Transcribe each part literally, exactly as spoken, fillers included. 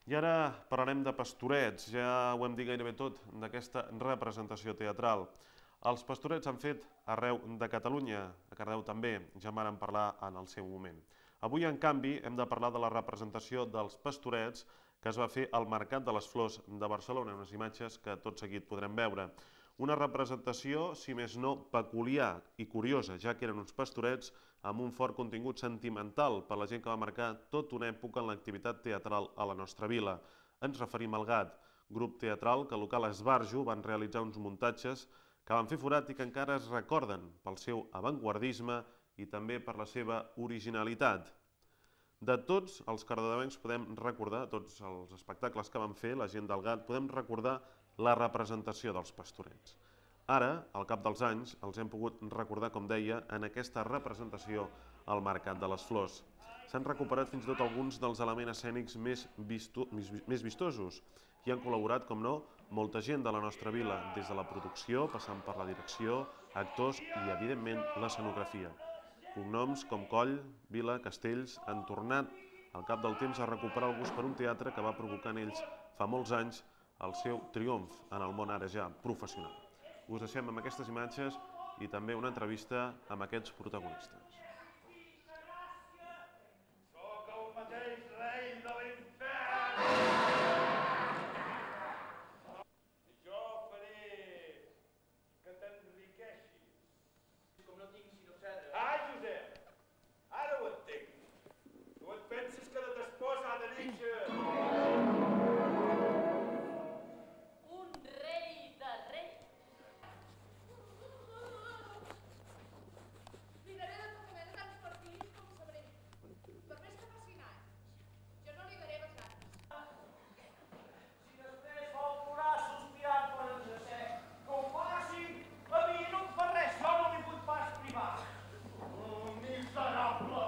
I ara parlarem de Pastorets, ja ho hem dit gairebé tot d'aquesta representació teatral. Els Pastorets s'han fet arreu de Catalunya, a Cardedeu també, ja en vàrem parlar en el seu moment. Avui, en canvi, hem de parlar de la representació dels Pastorets que es va fer al Mercat de les Flors de Barcelona, unes imatges que tot seguit podrem veure. Una representació, si més no, peculiar i curiosa, ja que eren uns pastorets amb un fort contingut sentimental per la gent que va marcar tota una època en l'activitat teatral a la nostra vila. Ens referim al Gat, grup teatral que al local Esbarjo van realitzar uns muntatges que van fer forat i que encara es recorden pel seu avantguardisme i també per la seva originalitat. De tots els cardedencs podem recordar, tots els espectacles que van fer, la gent del Gat, podem recordar la representació dels Pastorets. Ara, al cap dels anys, els hem pogut recordar, com deia, en aquesta representació al Mercat de les Flors. S'han recuperat fins i tot alguns dels elements escènics més, visto, més vistosos i han col·laborat, com no, molta gent de la nostra vila, des de la producció, passant per la direcció, actors i, evidentment, l'escenografia. Cognoms com Coll, Vila, Castells han tornat al cap del temps a recuperar el gust per un teatre que va provocar en ells fa molts anys el seu triomf en el món ara ja professional. Us deixem amb aquestes imatges i també una entrevista amb aquests protagonistes. Soc el mateix rei de l'infern! I jo faré que t'enriqueixis. Com no tinc sinó cedre. Ah, Josep! Ara ho entenc. Tu et penses que de ta esposa ha de néixer... Un rei de rei. Li daré de comer de tants partits com sabré. Per més que facin anys, jo no li daré vessants. Si després vol plorar sospirant quan ens assec, que ho faci, a mi no em fa res, jo no li vull pas privar. Oh, miserable!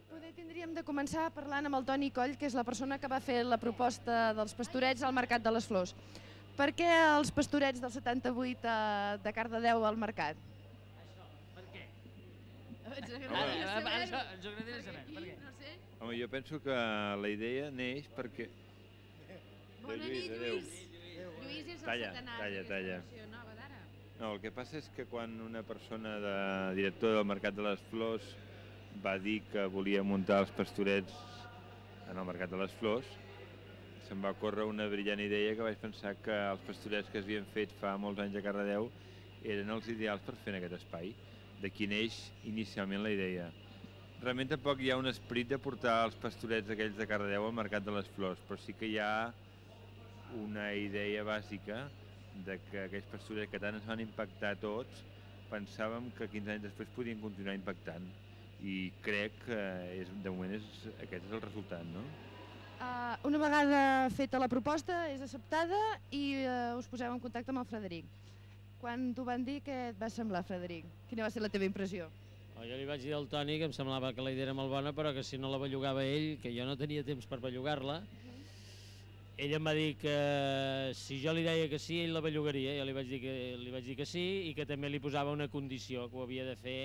Poder tindríem de començar parlant amb el Toni Coll, que és la persona que va fer la proposta dels Pastorets al Mercat de les Flors. Per què els Pastorets del setanta-vuit a, de Cardedeu al Mercat? Això, per què? Ens Home, agradaria ara saber. això ens agradaria saber, per què? No sé. Home, jo penso que la idea neix perquè... Bona Lluís, nit, adéu. Lluís. Lluís és el Talla, centenari talla, d'aquesta talla. versió nova d'ara. No, el que passa és que quan una persona de director del Mercat de les Flors va dir que volia muntar els Pastorets en el Mercat de les Flors, se'm va córrer una brillant idea que vaig pensar que els Pastorets que s'havien fet fa molts anys a Cardedeu eren els ideals per fer en aquest espai. D'aquí neix inicialment la idea. Realment tampoc hi ha un esperit de portar els Pastorets aquells de Cardedeu al Mercat de les Flors, però sí que hi ha una idea bàsica de que aquells Pastorets que tant ens van impactar a tots, pensàvem que quinze anys després podien continuar impactant. I crec que és, de moment és, aquest és el resultat, no? Uh, una vegada feta la proposta, és acceptada i uh, us poseu en contacte amb el Frederic. Quan t'ho van dir, què et va semblar, Frederic? Quina va ser la teva impressió? Oh, jo li vaig dir al Toni que em semblava que la idea era molt bona, però que si no la bellugava ell, que jo no tenia temps per bellugar-la, ell em va dir que si jo li deia que sí, ell la bellugaria. Jo li vaig dir que, li vaig dir que sí i que també li posava una condició, que ho havia de fer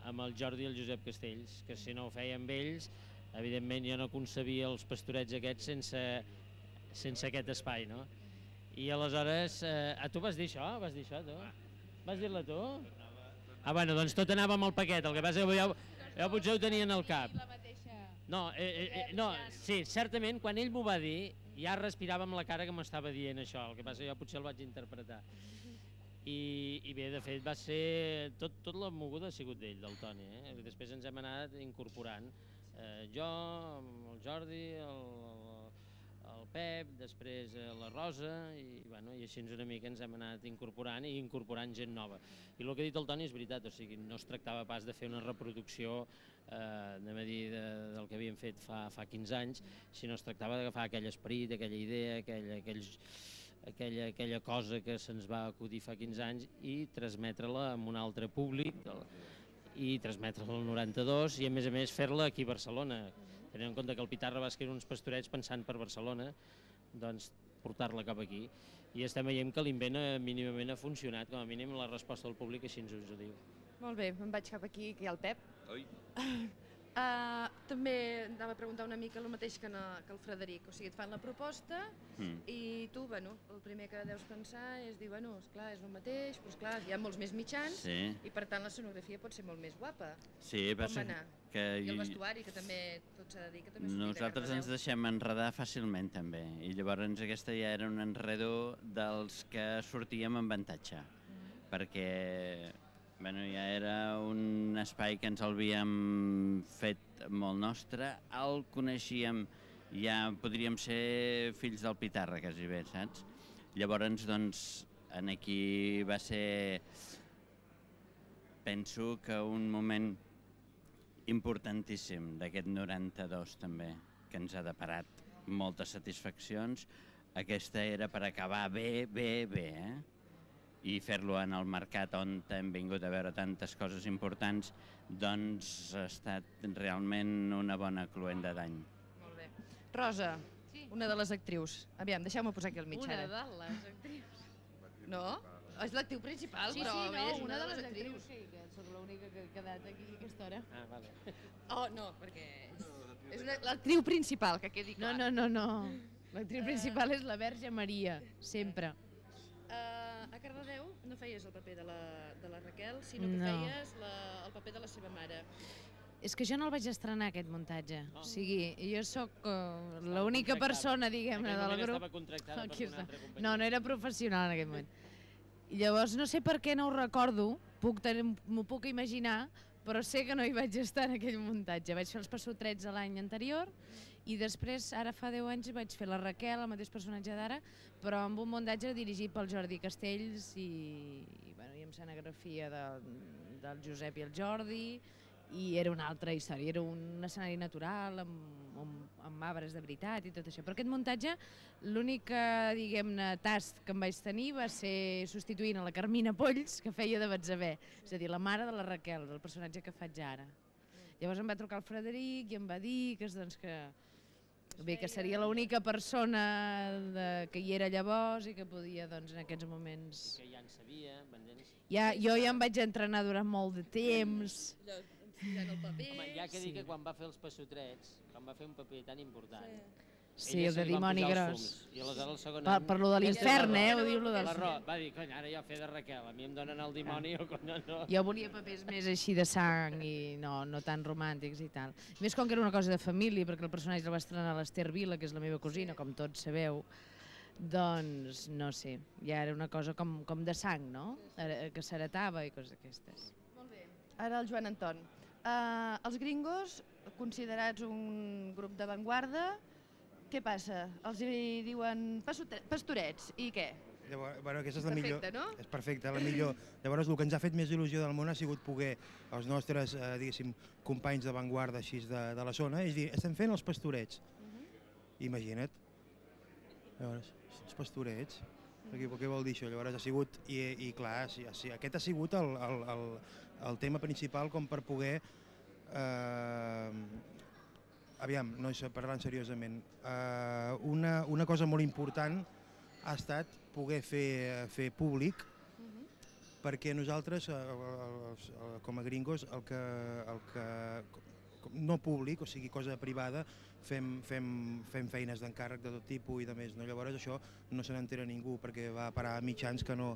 amb el Jordi i el Josep Castells, que si no ho feia amb ells, evidentment jo no concebia els Pastorets aquests sense, sense aquest espai, no? I aleshores, eh, ah, tu vas dir això? Vas dir això, tu? Vas dir-la tu? Ah, bueno, doncs tot anava amb el paquet, el que passa que jo, jo potser ho tenia en el cap. No, eh, eh, eh, no, sí, certament, quan ell m'ho va dir, ja respirava amb la cara que m'estava dient això, el que passa que jo potser el vaig interpretar. I, i bé, de fet, va ser... Tot, tot la moguda ha sigut d'ell, del Toni, eh? Després ens hem anat incorporant. Eh, jo, el Jordi, el, el Pep, després eh, la Rosa, i, bueno, i així una mica ens hem anat incorporant i incorporant gent nova. I el que ha dit el Toni és veritat, o sigui, no es tractava pas de fer una reproducció eh, anem a dir, de, del que havíem fet fa, fa quinze anys, sinó es tractava d'agafar aquell esperit, aquella idea, aquell, aquells, aquella, aquella cosa que se'ns va acudir fa quinze anys i transmetre-la amb un altre públic i transmetre-la al noranta-dos i a més a més fer-la aquí a Barcelona. Tenint en compte que el Pitarra va escriure uns pastorets pensant per Barcelona, doncs portar-la cap aquí. I estem veient que l'invent mínimament ha funcionat, com a mínim la resposta del públic així ens ho diu. Molt bé, em vaig cap aquí, que hi ha el Pep. Oi. Uh, també anava a preguntar una mica el mateix que, no, que el Frederic, o sigui, et fan la proposta Mm. i tu, bueno, el primer que deus pensar és dir, bueno, esclar, és el mateix, però esclar, hi ha molts més mitjans Sí, i per tant la sonografia pot ser molt més guapa. sí, Com passa va anar? que I el i- vestuari, que també tot s'ha de dir, que també sortia de nosaltres ens Cardedeu. deixem enredar fàcilment també i llavors aquesta ja era un enredo dels que sortíem amb avantatge perquè bueno, ja era un espai que ens l'havíem fet molt nostre, el coneixíem, ja podríem ser fills del Pitarra quasi bé, saps? Llavors, doncs, en aquí va ser, penso que un moment importantíssim d'aquest noranta-dos també, que ens ha deparat moltes satisfaccions. Aquesta era per acabar bé, bé, bé, eh? I fer-lo en el mercat on hem vingut a veure tantes coses importants, doncs ha estat realment una bona cluenda d'any. Molt bé. Rosa, Sí. una de les actrius. Aviam, deixeu-me posar aquí al mig Una ara. de les actrius. No? És l'actriu principal, Sí, però sí, no, bé, és una de les actrius, sí, que sóc l'única que he quedat aquí a aquesta hora. Ah, vale. Oh, no, perquè és, és una- l'actriu principal, que quedi No, clar. no, no, no. L'actriu principal és la Verge Maria, sempre. Uh, a Cardedeu no feies el paper de la, de la Raquel, sinó que No. feies la, el paper de la seva mare. És que jo no el vaig estrenar, aquest muntatge. Oh. O sigui, jo sóc uh, l'única contractada. persona, En diguem-ne, aquell del moment grup. estava contractada Aquí per una està. altra companyia. No, no era professional en aquell moment. I llavors no sé per què no ho recordo, puc tenir- m'ho puc imaginar, però sé que no hi vaig estar en aquell muntatge. Vaig fer els passotrets a l'any anterior i després, ara fa deu anys, vaig fer la Raquel, el mateix personatge d'ara, però amb un muntatge dirigit pel Jordi Castells i, i, bueno, i amb escenografia de, del Josep i el Jordi, i era una altra història, era un escenari natural amb, amb, amb arbres de veritat i tot això. Però aquest muntatge, l'únic, eh, diguem-ne, tast que em vaig tenir va ser substituint a la Carmina Polls, que feia de Batzabé, és a dir, la mare de la Raquel, del personatge que faig ara. Llavors em va trucar el Frederic i em va dir que, doncs, que, bé, que seria l'única persona de, que hi era llavors i que podia, doncs, en aquests moments... Que ja en sabia, m'entens? Ja, jo ja em vaig entrenar durant molt de temps. Allò, ensillant el paper... Home, ja que Sí. dir que quan va fer els passotrets, quan va fer un paper tan important, Sí, ella el se de li van dimoni posar els gros. fums. I aleshores el segon Per, any... per lo de l'infern, eh? Ho diu lo del... La Ro va dir, cony, ara jo fer de Raquel, a mi em donen el dimoni o no, no. Jo volia papers més així de sang i no, no tan romàntics i tal. I més com que era una cosa de família, perquè el personatge el va estrenar l'Ester Vila, que és la meva cosina, com tots sabeu, doncs, no sé, ja era una cosa com, com de sang, no? Era- Que s'heretava i coses d'aquestes. Molt bé. Ara el Joan Anton. Uh, els gringos, considerats un grup d'avantguarda, què passa? Els hi diuen passote- pastorets, i què? Llavors, bueno, aquesta és la Perfecte, millor. no? És perfecte, la millor. Llavors, el que ens ha fet més il·lusió del món ha sigut poder, els nostres, eh, diguéssim, companys d'avantguarda així de, de la zona, és dir, estem fent els pastorets. Imagina't. Llavors, els pastorets, què, què vol dir això? Llavors ha sigut, i, i clar, sí, sí, aquest ha sigut el, el, el, el tema principal com per poder, eh, aviam, no és parlant seriosament, eh, una, una cosa molt important ha estat poder fer, fer públic, perquè nosaltres, eh, els, eh, com a gringos, el que, el que, no públic, o sigui, cosa privada, fem, fem, fem feines d'encàrrec de tot tipus i de més. No? Llavors això no se n'entera ningú, perquè va parar a mitjans que no...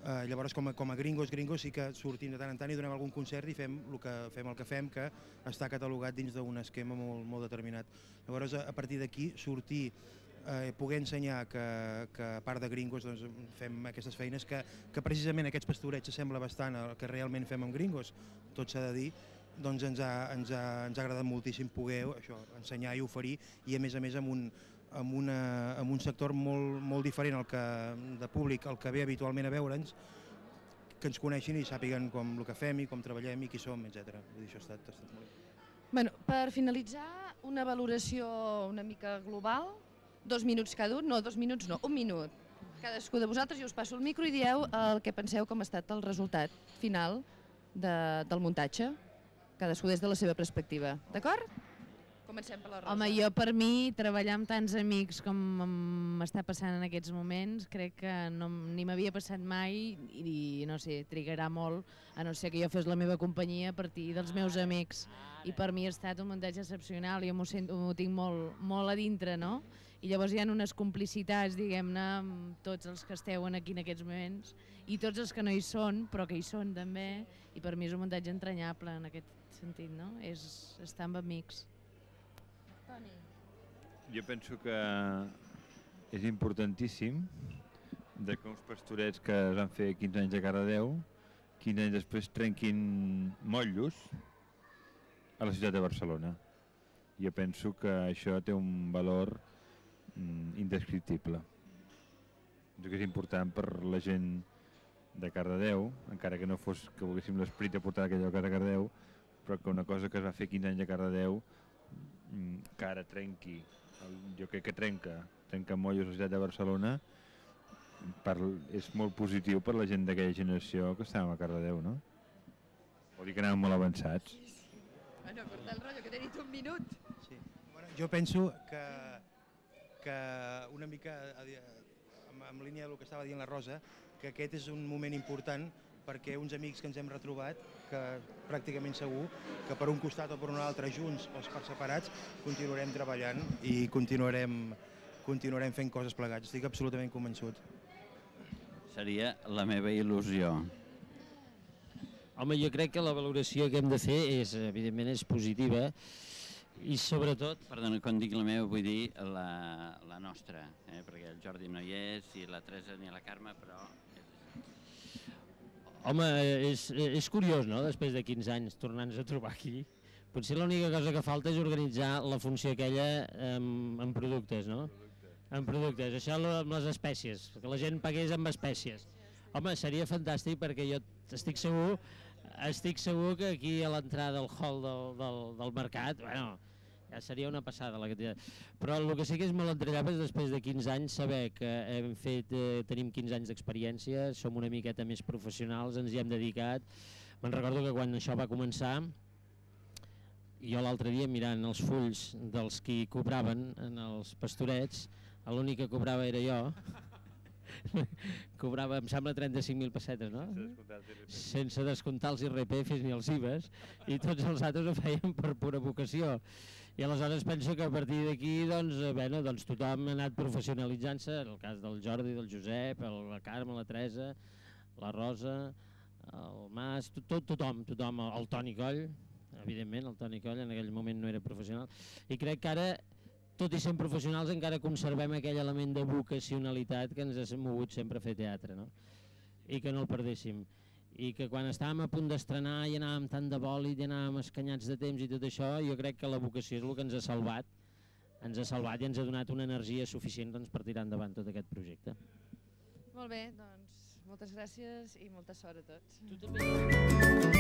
Eh, llavors, com a, com a gringos, gringos sí que sortim de tant en tant i donem algun concert i fem el que fem, el que fem que està catalogat dins d'un esquema molt, molt determinat. Llavors, a, a partir d'aquí, sortir, eh, poder ensenyar que, que a part de gringos doncs, fem aquestes feines que, que precisament aquests pastorets s'assembla bastant al que realment fem amb gringos, tot s'ha de dir, doncs ens ha, ens ha, ens ha agradat moltíssim poder això, ensenyar i oferir, i a més a més amb un, amb una, amb un sector molt, molt diferent al que, de públic, el que ve habitualment a veure'ns, que ens coneixin i sàpiguen com el que fem i com treballem i qui som, etcètera. Vull dir, això ha estat, ha estat molt bé. Bueno, per finalitzar, una valoració una mica global, dos minuts cada un, no, dos minuts no, un minut. cadascú de vosaltres, jo us passo el micro i dieu el que penseu com ha estat el resultat final de, del muntatge, cadascú des de la seva perspectiva, d'acord? Comencem per la Rosa. Home, jo per mi, treballar amb tants amics com m'està passant en aquests moments, crec que no, ni m'havia passat mai i, i no sé, trigarà molt, a no ser que jo fes la meva companyia a partir dels meus amics. I per mi ha estat un muntatge excepcional, jo m'ho sento, m'ho tinc molt, molt a dintre, no? I llavors hi ha unes complicitats, diguem-ne, amb tots els que esteu aquí en aquests moments i tots els que no hi són, però que hi són també, i per mi és un muntatge entranyable en aquest sentit, no? És estar amb amics. Jo penso que és importantíssim de que uns pastorets que es van fer quinze anys a Cardedeu, quinze anys després trenquin motllos a la ciutat de Barcelona. Jo penso que això té un valor mm, indescriptible. Penso que és important per la gent de Cardedeu, encara que no fos que volguéssim l'esperit de portar aquell lloc a Cardedeu, però que una cosa que es va fer quinze anys a Cardedeu que ara trenqui, jo crec que trenca, trenca mollos a la ciutat de Barcelona, per, és molt positiu per la gent d'aquella generació que estàvem a Cardedeu, no? Vol dir que anàvem molt avançats. Bueno, corta el rotllo, que t'he dit un minut. Sí. Bueno, jo penso que, que una mica en, en línia del que estava dient la Rosa, que aquest és un moment important perquè uns amics que ens hem retrobat, que pràcticament segur que per un costat o per un altre, junts o per separats, continuarem treballant i continuarem, continuarem fent coses plegats. Estic absolutament convençut. Seria la meva il·lusió. Home, jo crec que la valoració que hem de fer és, evidentment, és positiva i sobretot... Perdona, quan dic la meva vull dir la, la nostra, eh? Perquè el Jordi no hi és i la Teresa ni la Carme, però... Home, és, és curiós, no?, després de quinze anys tornar-nos a trobar aquí. Potser l'única cosa que falta és organitzar la funció aquella en, en productes, no? En productes, això amb les espècies, que la gent pagués amb espècies. Home, seria fantàstic perquè jo estic segur, estic segur que aquí a l'entrada del hall del, del, del mercat, bueno, ja seria una passada la quantitat. Però el que sí que és molt entranyable és després de quinze anys saber que hem fet, eh, tenim quinze anys d'experiència, som una miqueta més professionals, ens hi hem dedicat. Me'n recordo que quan això va començar, jo l'altre dia mirant els fulls dels qui cobraven en els pastorets, l'únic que cobrava era jo. Cobrava, em sembla, trenta-cinc mil pessetes, no? Sense descomptar els I R P Fs ni els I V As, i tots els altres ho feien per pura vocació. I aleshores penso que a partir d'aquí doncs, bueno, doncs tothom ha anat professionalitzant-se, en el cas del Jordi, del Josep, la Carme, la Teresa, la Rosa, el Mas, tot, tothom, tothom, el Toni Coll, evidentment, el Toni Coll en aquell moment no era professional, i crec que ara, tot i sent professionals, encara conservem aquell element de vocacionalitat que ens ha mogut sempre a fer teatre, no? I que no el perdéssim. I que quan estàvem a punt d'estrenar i anàvem tant de bòlit i anàvem escanyats de temps i tot això, jo crec que la vocació és el que ens ha salvat, ens ha salvat i ens ha donat una energia suficient doncs, per tirar endavant tot aquest projecte. Molt bé, doncs moltes gràcies i molta sort a tots. Tu també.